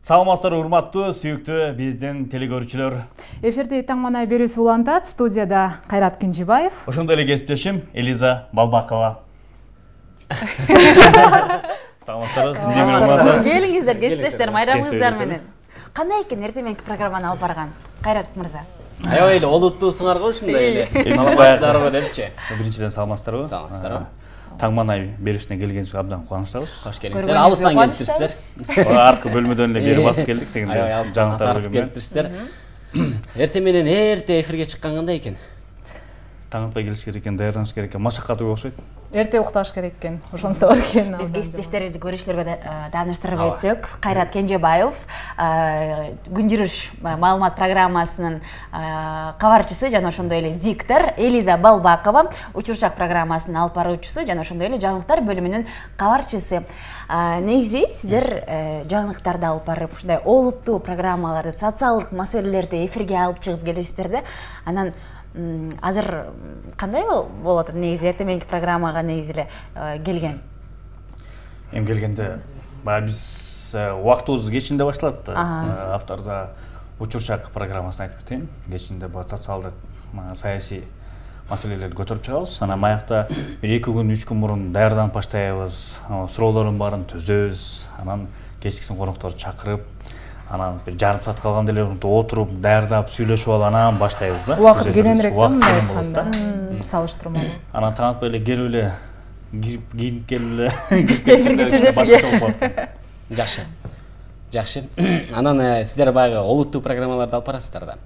Саламатсыздар, урматтуу, сүйүктүү биздин телекөрүүчүлөр. Эфирде таң манай берүүсү улантат. Студияда Кайрат Кинжибаев. Ошондой эле кесиптешим Элиза Балбакова. Саламатсыздарбы? Келиңиздер, кесиптештер, майрамыңыздар менен. Кандай экен эртең мененки программаны алып барган Кайрат мырза? Аябай эле олуттуусуңар го ушундай эле. Саламатсыздарбы депчи. Биринчиден саламатсыздарбы? Саламатсыздарбы. Таң манай берүүсүнө келгениңизге абдан кубанычтабыз. Кош келиңиздер. Алыстан келиптирсиздер. Аркы бөлмөдөн эле бери басып келдик дегенде. Аябай алыстан тартып келиптирсиздер. Эртең менен эрте эфирге чыккан кандай экен? Таң атпай келиш керек экен, даярданыш керек экен. Машакаттуу окшойт. Эрте укташ керек экен. Ошонусу бар экен. Биз кесиптештерибизди көрүүчүлөргө тааныштырып өтсөк, Кайрат Кинжибаев күн жүрүш маалымат программасынын кабарчысы жана ошондой эле диктор, Элиза Балбакова учурчак программасынын алып баруучусу жана ошондой эле жаңылыктар бөлүмүнүн кабарчысы. Негизи сиздер жаңылыктарды алып барып, ушундай олуттуу программаларды, социалдык маселелерди эфирге алып чыгып келесиздер да. Анан азыр кандай болот негизи эртең мененки программага негизи эле келген? Эми келгенде баягы биз убактыбыз кечинде башталат. Авторда учурчак программасын айтып кетейин. Кечинде бул социалдык, саясий маселелерди көтөрүп чыгабыз. Анан маякта 2 күн, 3 күн мурун даярданып баштайбыз. Суроолордун баарын түзөбүз. Анан кечкисин конокторду чакырып, анан бир жарым саат калганда эле отуруп, даярдап, сүйлөшүп алып анан баштайбыз да. Убакыт кененирээк мындай айтканда, салыштырмалуу. Анан таң атпай эле келип эле кийинип келип эле Жакшы. Жакшы. Анан сиздер баягы олуттуу программаларды алып барасыздар да.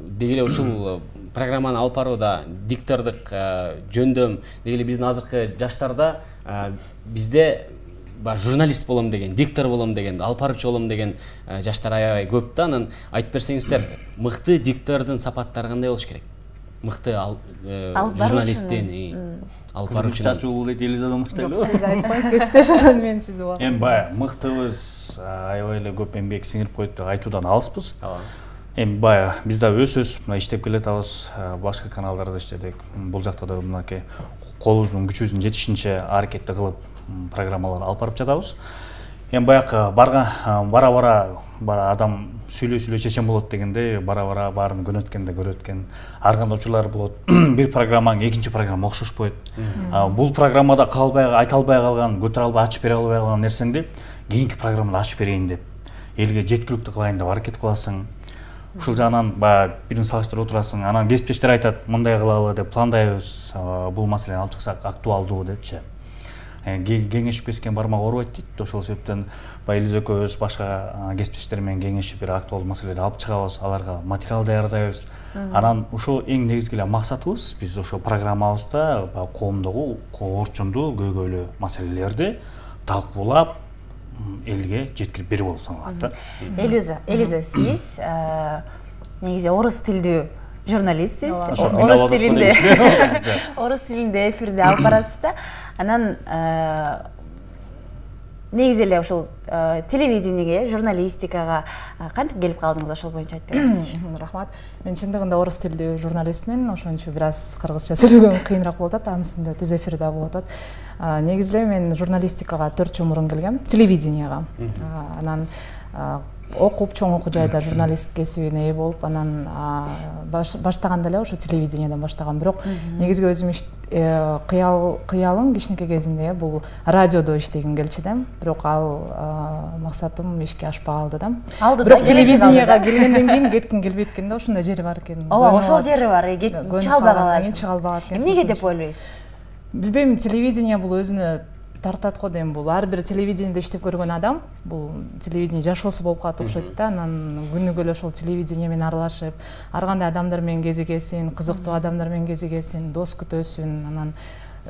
Деги эле ушул программаны алып барууда диктордук жөндөм, деги эле биздин азыркы жаштарда бизде журналист болом деген, диктор болом деген, алып баруучу болом деген жаштар аябай көп да. Анан айтып берсеңиздер, мыкты диктордун сапаттары кандай болуш керек? Мыкты журналисттин алып баруучунун. Чачуу дейт Элизадан баштайлы. Сиз айтып коюңуз, кесиптешимден мен сизди улам. Эми баягы мыктыбыз, аябай эле көп эмгек сиңирип койт деп айтуудан алыспыз. Эми баягы биз да өз мына иштеп келатабыз, башка каналдарда иштедик. Бул жакта да мынакей колубуздун күчүбүздүн жетишинче аракетти кылып программалар алып барып жатабыз. Эми баягы бара-бара адам сүйлөй чечен болот дегенде, бара-бара баарын көрөткөн ар кандай учурлар болот. Бир программаң экинчи программа окшошпойт. Бул программада калбай, айта албай калган, көтөрө албай, ачып бере албай калган нерсеңди кийинки программада ачып берейин деп, элге жеткиликтүү кылайын деп аракет кыласың. Ушул жагынан баягы бирин салыштырып отурасың. Анан кесиптештер айтат, мындай кылалы деп пландайбыз. Бул маселени алып чыксак актуалдуу депчи. Кеңешип кескен бармак оорубайт дейт. Ошол себептен Элиза экөөбүз башка кесиптештер менен кеңешип бир актуалдуу маселелерди алып чыгабыз, аларга материал даярдайбыз. Анан ошол эң негизги эле максатыбыз, биз ошол программабызда коомдогу орчундуу, көйгөйлүү маселелерди талкуулап элге жеткирип берүү болуп саналат да. Элиза, сиз негизи орус тилдүү журналистсиз. Орус тилинде эфирде алып барасыз да. Анан негизи эле ошол телевидениеге, журналистикага кантип келип калдыңыз, ошол боюнча айтып бересизчи? Рахмат. Мен чындыгында орус тилдүү журналистмин, ошон үчүн бир аз кыргызча сөйлөгөн кыйыныраак болуп атат, анын үстүндө түз эфирде болуп атат. Негизи эле мен журналистикага 4 жыл мурун келгем, телевиденияга. Анан окуп, чоң окуу жайда журналист кесибине ээ болуп, анан баштаганда эле ошо телевидениядан баштагам. Бирок негизги өзүм кыялым кичинекей кезимде бул радиодо иштегим келчү да. Бирок ал максатым ишке ашпай калды да. Бирок телевиденияга келгенден кийин кетким келбейт экен да, ошондой жери бар экен. Ооба, ошол жери бар, чыга албай каласыз. Чыга албай экен. Эмнеге деп ойлойсуз? Билбейм, телевидение бул өзүнө тартат го дейм. Бул ар бир телевидениеде иштеп көргөн адам, бул телевидение жашоосу болуп калат окшойт да. Анан күнүгө эле ошол телевидение менен аралашып, ар кандай адамдар менен кезигесин, кызыктуу адамдар менен кезигесин, дос күтөсүн, анан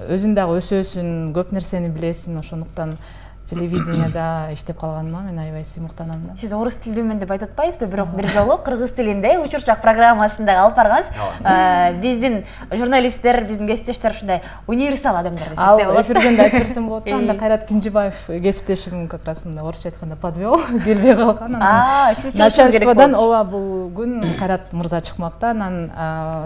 өзүң дагы өсөсүн, көп нерсени билесиң. Ошондуктан телевиденияда иштеп калганыма мен аябай сыймыктанам да. Сиз орус тилдүүмүн деп айтып атпайсызбы? Бирок бир жолу кыргыз тилинде учурчак программасында алып баргансыз. Биздин журналисттер, биздин кесиптештер ушундай универсал адамдар десек болот. Эфирден да айтып берсем болот да. Анда Кайрат Кинжибаев кесиптешим как раз мындай орусча айтканда подвел, келбей калган. Сиз чыгышыңыз керек болду. Начальстводон ооба бул күн Кайрат мырза чыкмак да. Анан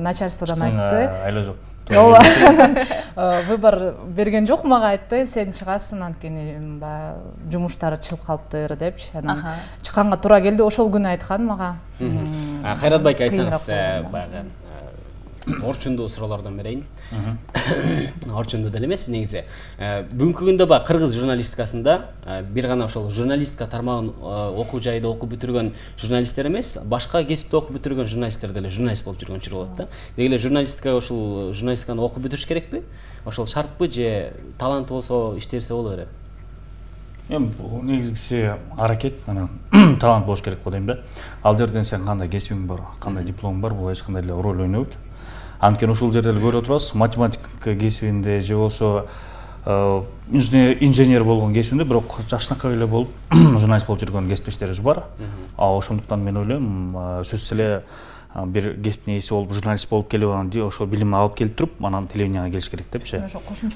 начальстводон айтты. Айла жок. ооба выбор берген жок мага, айтпай сен чыгасың анткени баягы жумуштары чыгып калыптыр депчи. Анан чыкканга туура келди. Ошол күнү айткан мага. Кайрат байке, айтсаңыз баягы орчундуу суроолордон берейин. Орчундуу деле эмес негизи. Бүгүнкү күндө баягы кыргыз журналистикасында бир гана ошол журналистика тармагын окуу жайда окуп бүтүргөн журналисттер эмес, башка кесипте окуп бүтүргөн журналисттер деле журналист болуп жүргөн учур болот да. Деги эле журналистикага ошол журналистиканы окуп бүтүрүш керекпи? Ошол шартпы же таланты болсо иштерсе боло береби? Эми бул негизгиси аракет, анан талант болуш керек го дейм да. Ал жерден сен кандай кесибиң бар, кандай дипломуң бар, бул эч кандай эле роль ойнобойт. Анткени ушул жерде эле көрүп отурабыз, математика кесибинде же болсо инженер болгон кесибинде бирок жакшынакай эле болуп журналист болуп жүргөн кесиптештерибиз бар. Ошондуктан мен ойлойм, сөзсүз эле бир кесиптин ээси болуп журналист болуп келип анан ошол билимди алып келип туруп, анан телевиденияга келиш керек депчи.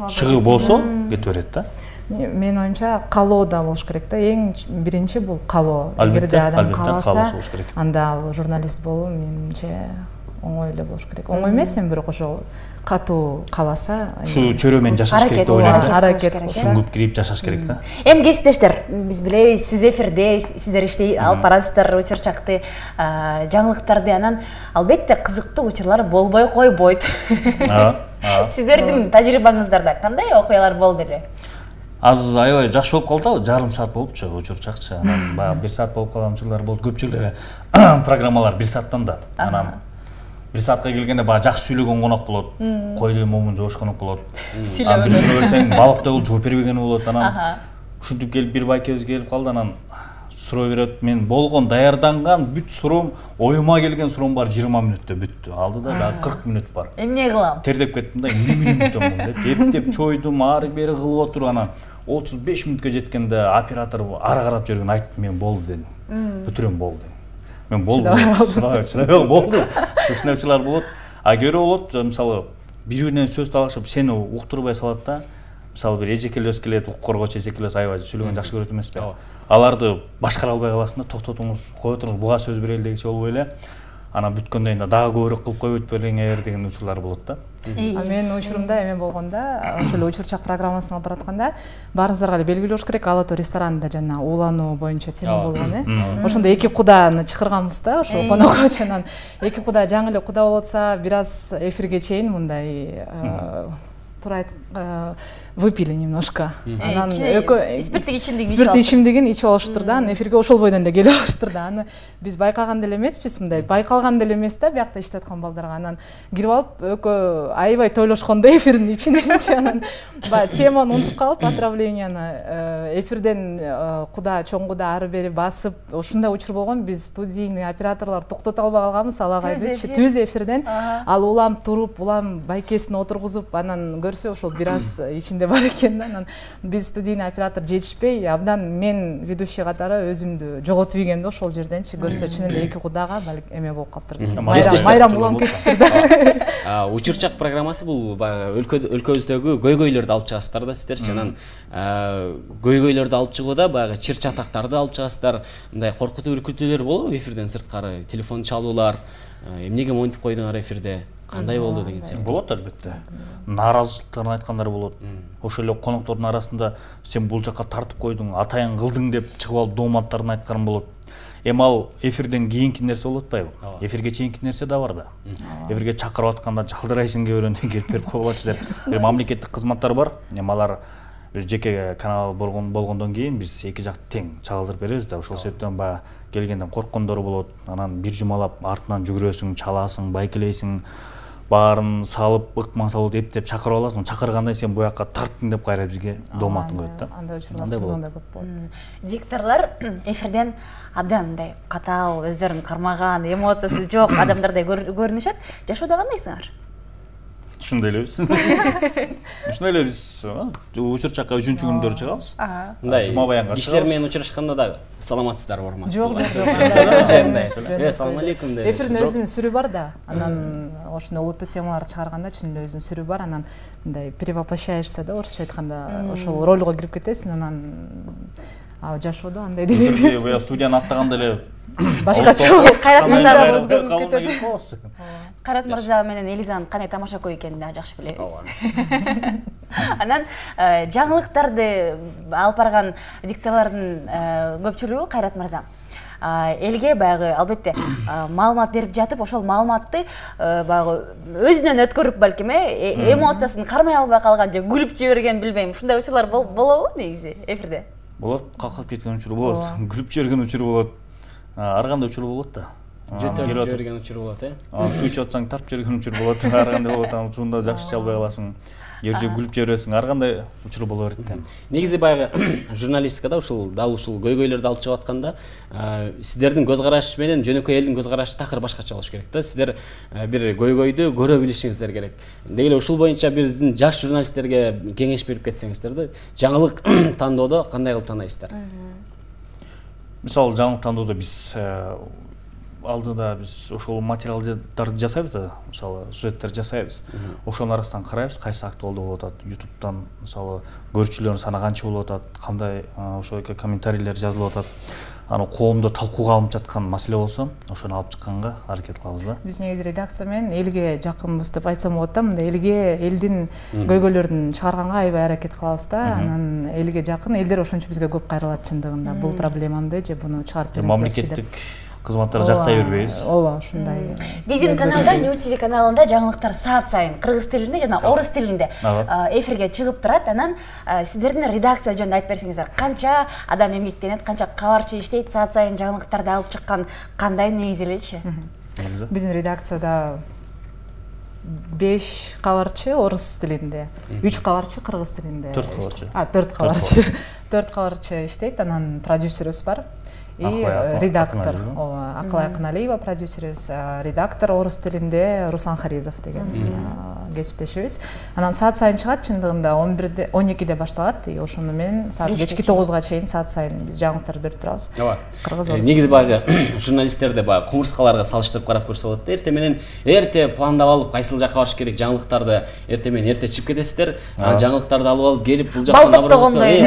Чыгыы болсо кете берет да. Менин оюмча каалоо да болуш керек да. Эң биринчи бул каалоо. Эгерде адам кааласа, анда ал журналист болуу менимче оңой эле болуш керек. Оңой эмес, эми бирок ошо катуу кааласа, ушу чөйрө менен жашаш керек деп ойлойм да. Аракет сүңгүп кирип жашаш керек да. Эми кесиптештер, биз билебиз, түз эфирде сиздер иштей алып барасыздар учурчакты, жаңылыктарды, анан албетте кызыктуу учурлар болбой койбойт. Сиздердин тажрыйбаңыздарда кандай окуялар болду эле? Азыр аябай жакшы болуп калды, жарым саат болупчу учурчакчы. Анан баягы 1 саат болуп калган учурлар болду. Көпчүлүк эле программалар 1 сааттан да. Анан 1 саатка келгенде баягы жакшы сүйлөгөн конок болот. Койдун момун жош конок болот. Анан бир сүйлөп берсең балыктай болуп жооп бербегени болот. Анан ушинтип келип бир байкебиз келип калды, анан суроо берет. Мен болгон даярданган бүт суроом, оюма келген суроом бар 20 мүнөттө бүттү. Алды да дагы 40 мүнөт бар. Эмне кылам? Тердеп кеттим да, эмне мүнөттөн деп эптеп чойдум, ары бери кылып отуруп анан 35 мүнөткө жеткенде оператор ары карап жүргөн айтты, мен болду дедим. Бүтүрөм болду. Мен болду. Чыдабай болду. Сынакчылар болот. А көрө болот, мисалы, бири-биринен сөз талашып, сени уктурбай салат да. Мисалы, бир эжекелес келет, коргоочу эжекелес аябай сүйлөгөн жакшы көрөт эмеспи? Аларды башкара албай каласың да, токтотуңуз, кое туруңуз, буга сөз берели дегенче болбой эле. Анан бүткөндөн кийин дагы көбүрөөк кылып коюп өтпөлүңөр деген учурлар болот да. Менин учурумда эме болгондо, ошол учурчак программасын алып баратканда, баарыңыздарга эле белгилүү болуш керек, Ала Тоо ресторанында жана уулануу боюнча тема болгон, Ошондо эки куданы чакырганбыз да, ошо конокко. Анан эки куда жаңы эле куда болуп атса, бир аз эфирге чейин мындай туура выпили немножко. Анан спирттик ичимдигин ичип алыштыр да, анан эфирге ошол бойдон эле келип алыштыр да. Аны биз байкаган деле эмеспиз, мындай байкалган деле эмес да, биякта иштеп аткан балдарга. Анан кирип алып, экөө аябай тойлошкондо эфирдин ичиненчи, анан баягы теманы унутуп калып, отравленияны эфирден куда, чоң куда ары бери басып, ушундай учур болгон. Биз студийный операторлор токтото албай калганбыз, алак айтычы, түз эфирден ал улам туруп, улам байкесин отургузуп, анан көрсө ошол бир аз ичинде бар экен да. Анан биз студийный оператор жетишпей, абдан мен ведущий катары өзүмдү жоготуп ийгем да ошол жерденчи. Көрсө чын эле эки кудага балик эме болуп калыптыр. Майрам улам кетиптир да. Учурчак программасы бул баягы өлкөбүздөгү көйгөйлөрдү алып чыгасыздар да сиздерчи. Анан көйгөйлөрдү алып чыгууда баягы чыр чатактарды алып чыгасыздар. Мындай коркутуу үркүтүүлөр болобу эфирден сырткары? Телефон чалуулар, эмнеге монтип койдуңар эфирде? Кандай болду деген сыяктуу. Болот албетте. Нааразычылыктарын айткандар болот. Ошол эле коноктордун арасында сен бул жакка тартып койдуң, атайын кылдың деп чыгып алып дооматтарын айткан болот. Эми ал эфирден кийинки нерсе болуп атпайбы? Эфирге чейинки нерсе да бар да. Эфирге чакырып атканда жалдырайсың кээ бирөөнөн келип берип койгулачы деп. Мамлекеттик кызматтар бар. Эми алар бир жеке канал болгондон кийин биз эки жакты тең чагылдырып беребиз да. Ошол себептен баягы келгенден корккондор болот. Анан бир жумалап артынан жүгүрөсүң, чаласың, байкелейсиң. Баарын салып, ыкман салып эптеп чакырып аласың. Чакыргандай сен буякка тарттың деп кайра бизге дооматын коет да. Андай учурлар көп болот. Дикторлор эфирден абдан мындай катаал, өздөрүн кармаган, эмоциясы жок адамдардай көрүнүшөт. Жашоодо кандайсыңар? Ушундай элебиз. Ушундай эле биз учурчакка 3-чү күндөрү чыгабыз. Мындай кишилер менен учурашканда дагы саламатсыздарбы, урматтуу? Жок. Ассалам алейкум деп. Эфирдин өзүнүн сүрү бар да. Анан ошондой олуттуу темалар чыгарганда чын эле өзүнүн сүрү бар. Анан мындай перевоплощаешься да, орусча айтканда, ошол ролго кирип кетесиң. Анан жашоодо андай деле эмес. Студияны аттаганда эле башкача Кайрат мырза Кайрат мырза менен Элизанын кандай тамашакөй экенин да жакшы билебиз. Анан жаңылыктарды алып барган дикторлордун көпчүлүгү Кайрат мырза элге баягы албетте маалымат берип жатып, ошол маалыматты баягы өзүнөн өткөрүп балким эмоциясын кармай албай калган же күлүп жиберген билбейм. Ушундай учурлар болобу негизи эфирде? Болот, каккап кеткен учур болот, күлүп жиберген учур болот. Ар кандай учур болот да. Жөтөлүп жиберген учур болот, Суу ичип атсаң тартып жиберген учур болот, ар кандай болот, анан учурунда жакшы иче албай каласың. Же күлүп жибересиң, ар кандай учур боло берет да. Негизи баягы журналистикада дал ушул көйгөйлөрдү алып чыгып атканда сиздердин көз карашы менен жөнөкөй элдин көз карашы такыр башкача болуш керек да. Сиздер бир көйгөйдү көрө билишиңиздер керек. Деги эле ушул боюнча биздин жаш журналисттерге кеңеш берип кетсеңиздер да, жаңылык тандоодо кандай кылып тандайсыздар? Мисалы жаңылык тандоодо биз алдыда биз ошол материалдарды жасайбыз да, мисалы сюжеттер жасайбыз. Ошонун арасынан карайбыз, кайсы актуалдуу болуп атат, YouTube'дан мисалы көрүүчүлөрдүн саны канча болуп атат, кандай ошол комментарийлер жазылып атат. Аны коомдо талкууга алынып жаткан маселе болсо, ошону алып чыкканга аракет кылабыз да. Биз негизи редакция менен элге жакынбыз деп айтсам болот да, мындай элдин көйгөйлөрүн чыгарганга аябай аракет кылабыз да. Анан элге жакын, элдер ошончо бизге көп кайрылат чындыгында. Бул проблемамды же буну чыгарып бериңиздерчи деп. Мамлекеттик кызматтар жактай бербейбиз. Ооба, ушундай. Биздин каналда, New TV каналында жаңылыктар саат сайын кыргыз тилинде жана орус тилинде эфирге чыгып турат. Анан сиздердин редакция жөнүндө айтып берсеңиздер, канча адам эмгектенет, канча кабарчы иштейт, саат сайын жаңылыктарды алып чыккан кандай негизи элечи? Биздин редакцияда 5 кабарчы орус тилинде, 3 кабарчы кыргыз тилинде. 4 кабарчы. 4 кабарчы. 4 кабарчы иштейт, анан продюсерибиз бар. И редактор, Акылай Акыналиева продюсерибиз, редактор орус тилинде Руслан Харизов деген кесиптешибиз. Анан саат сайын чыгат, чындыгында 11-де 12-де башталат, и ошону менен саат кечки 9-га чейин саат сайын биз жаңылыктарды берип турабыз. Ооба. Кыргыз орус. Негизи баягы журналисттерди баягы кумурскаларга салыштырып карап көрсө болот да. Эрте пландап алып, кайсыл жакка барыш керек, жаңылыктарды эрте менен эрте чыгып кетесиздер. Жаңылыктарды алып алып келип бул жактан балтоктогондой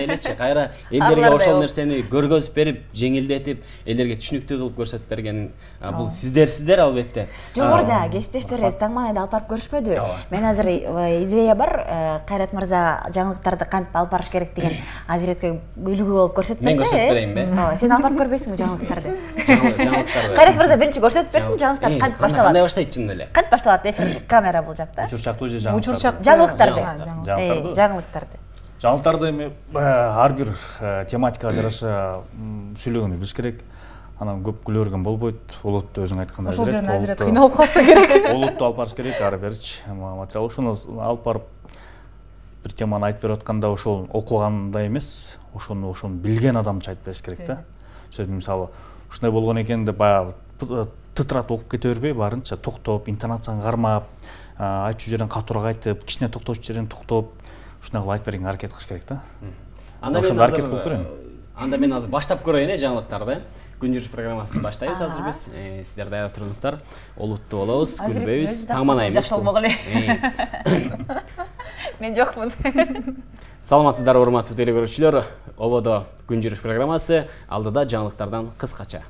элечи, кайра элдерге ошол нерсени көргөзүп берип, жеңилдетип, элдерге түшүнүктүү кылып көрсөтүп берген бул сиздер албетте. Жогоруда кесиптештерибиз таңманайды алып барып көрүшпөдү. Мен азыр идея бар, Кайрат мырза жаңылыктарды кантип алып барыш керек деген азиретке үлгү болуп көрсөтүп берсе. Мен көрсөтүп берейинби? Сен алып барып көрбөйсүңбү жаңылыктарды? Жаңылыктарды. Кайрат мырза биринчи көрсөтүп берсин, жаңылыктар кантип башталат? Кандай баштайт чын эле? Кантип башталат эфир камера бул жакта? Учурчактуу же жаңылыктарды? Жаңылыктарды. Жаңылыктарды. Жаңылыктарды эми ар бир тематикага жараша сүйлөгөнү билиш керек. Анан көп күлө берген болбойт. Олотту өзүң айткандай. Ошол жерден азырет кыйналып калса керек. Олотту алып барыш керек, ары беричи материал. Ошону алып барып бир теманы айтып берип атканда ошол окугандай эмес, ошону билген адамча айтып бериш керек да. Сөзүм мисалы ушундай болгон экен деп баягы тытыратып окуп кете бербей, барынча токтоп, интонацияны кармап, айтчу жерин катуураак айтып, кичине токточу жерин токтоп, ушундай кылып айтып берүүгө аракет кылыш керек да. Анда мен азыр баштап көрөйүн жаңылыктарды. Күн жүрүш программасын баштайбыз азыр биз. Сиздер даяр туруңуздар. Олуттуу болобуз, күлбөйбүз, таңманайбыз. Мен жокмун. Саламатсыздарбы, урматтуу теле көрүүчүлөр. Ободо күн жүрүш программасы, алдыда жаңылыктардан кыскача.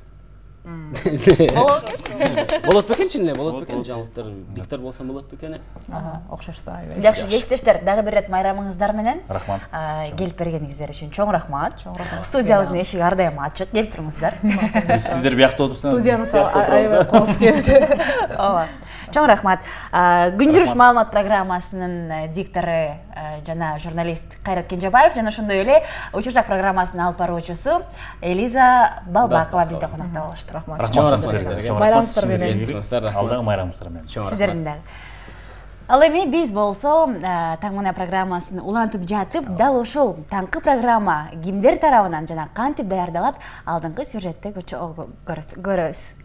Болот бекен чын эле, болот бекен жаңылыктар, диктор болсом болот бекен. Окшош да. Жакшы кесиптештер, дагы бир ирет майрамыңыздар менен. Рахмат. Келип бергениңиздер үчүн чоң рахмат. Студиябыздын эшиги ар дайым ачык, келип туруңуздар. Сиздер биякта отурсаңар. Студияны аябай коос келет. Ооба. Чоң рахмат. Күн жүрүш маалымат программасынын диктору жана журналист Кайрат Кенжебаев жана ошондой эле Учурчак программасынын алып баруучусу Элиза Балбакова бизде конокто болушту. Рахмат. Чоң рахмат сиздерге. Майрамыңыздар менен. Алдагы майрамыңыздар менен. Сиздердин дагы. Ал эми биз болсо Таңмана программасын улантып жатып, дал ушул таңкы программа кимдер тарабынан жана кантип даярдалат, алдыңкы сюжетте көрөбүз.